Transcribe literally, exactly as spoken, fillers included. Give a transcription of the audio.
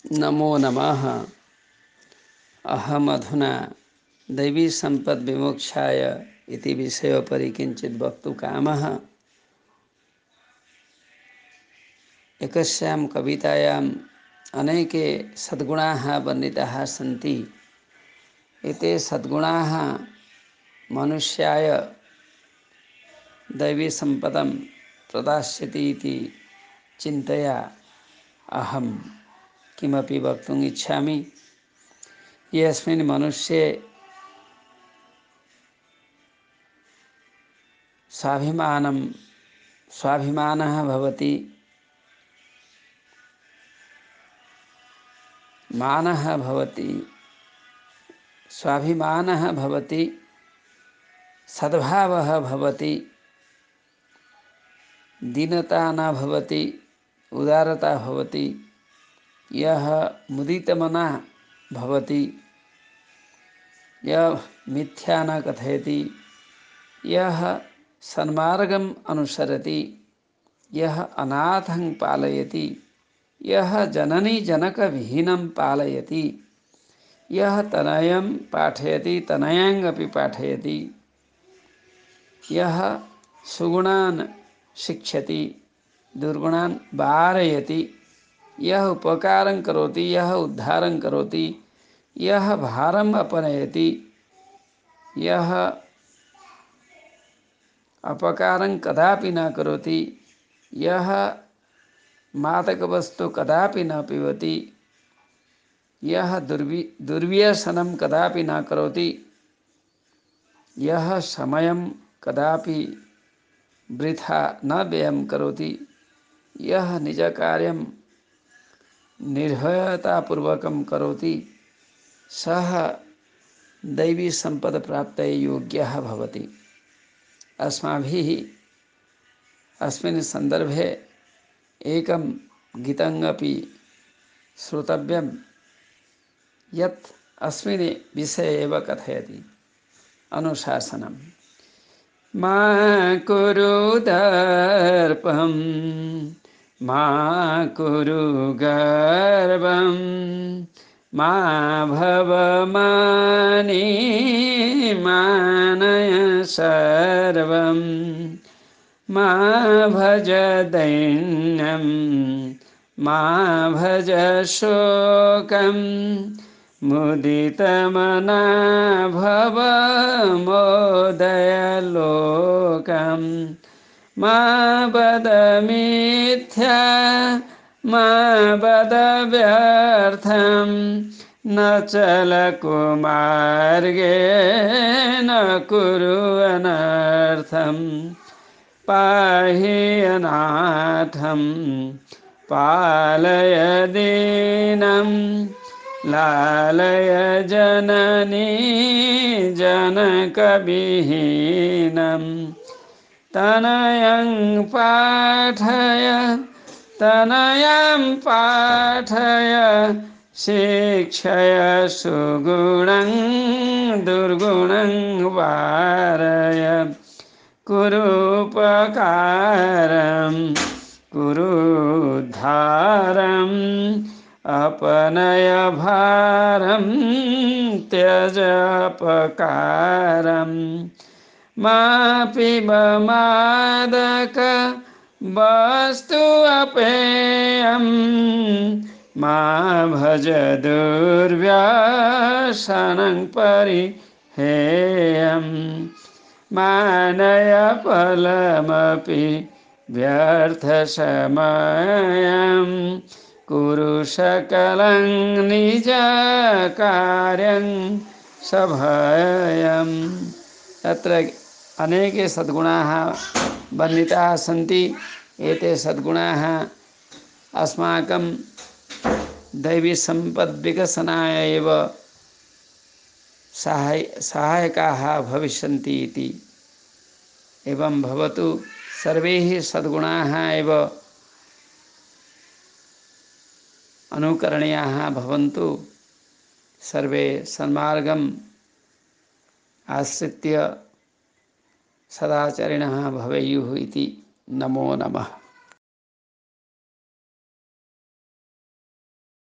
नमो नमः। अहमधुना दैवीसम्पद्विमोक्षाय इति विषयोपरि किञ्चित् वक्तुकामः। एकस्यां कवितायाम् अनेके सद्गुणाः वर्णिताः सन्ति। एते सद्गुणाः मनुष्याय दैवीसम्पदं प्रदास्यति इति चिन्तया अहं किमपि वक्तुम् इच्छामि। यस्मिन् मनुष्ये स्वाभिमानं स्वाभिमानः भवति, मानः भवति, स्वाभिमानः भवति, सद्भावः भवति, दीनता न भवति, उदारता भवति, यः मुदितमनः भवति, यः मिथ्या न कथयति, यः सन्मार्गम् अनुसरति, यः अनाथं पालयति, यः जननी जनकविहीनं पालयति, यः तनयं पाठयति तनयाङ्गपि पाठयति, यः सुगुणान् शिक्षति दुर्गुणान् वारयति, यः उपकारं करोति, यः उद्धारं करोति, यः भारम् अपनयति, यः अपकारं कदापि न करोति, यः मादकवस्तु कदापि न पिबति, यः दुर्वि दुर्व्यसनं कदापि न करोति, यः समयं कदापि वृथा न व्ययं करोति, यः निजकार्यं निर्भयतापूर्वकं करोति, सः दैवीसम्पदप्राप्तये योग्यः भवति। अस्माभिः अस्मिन् सन्दर्भे एकं गीतमपि श्रोतव्यं यत् अस्मिन् विषये एव कथयति। अनुशासनं मा कुरु दर्पं मा कुरु गर्वं मा भव मानी मानय सर्वं मा भज दैन्यं मा भज शोकं मुदितमना भव मोदय लोकं मा वद मिथ्या मा वद व्यर्थं न चल कुमार्गे न कुरु अनर्थं पाहि अनाथं पालय दीनं लालय जननी जनकविहीनं तनयं पाठय तनयां पाठय शिक्षय सुगुणं दुर्गुणं वारय कुरूपकारं कुरुद्धारम् अपनय भारं त्यज अपकारं मा पिब मादक वस्तु अपेयं मा भज दुर्व्यसनं परिहेयं मानय फलमपि व्यर्थसमयं कुरु सकलं निजकार्यं सभयम्। अत्र अनेके सद्गुणाः वर्णिताः सन्ति। एते सद्गुणाः अस्माकं दैवीसम्पद्विकसनाय एव सहाय सहायकाः भविष्यन्ति इति। एवं भवतु। सर्वे सद्गुणाः एव अनुकरणीयाः भवन्तु। सर्वे सन्मार्गम् आश्रित्य सदाचरिणः भवेयुः इति। नमो नमः।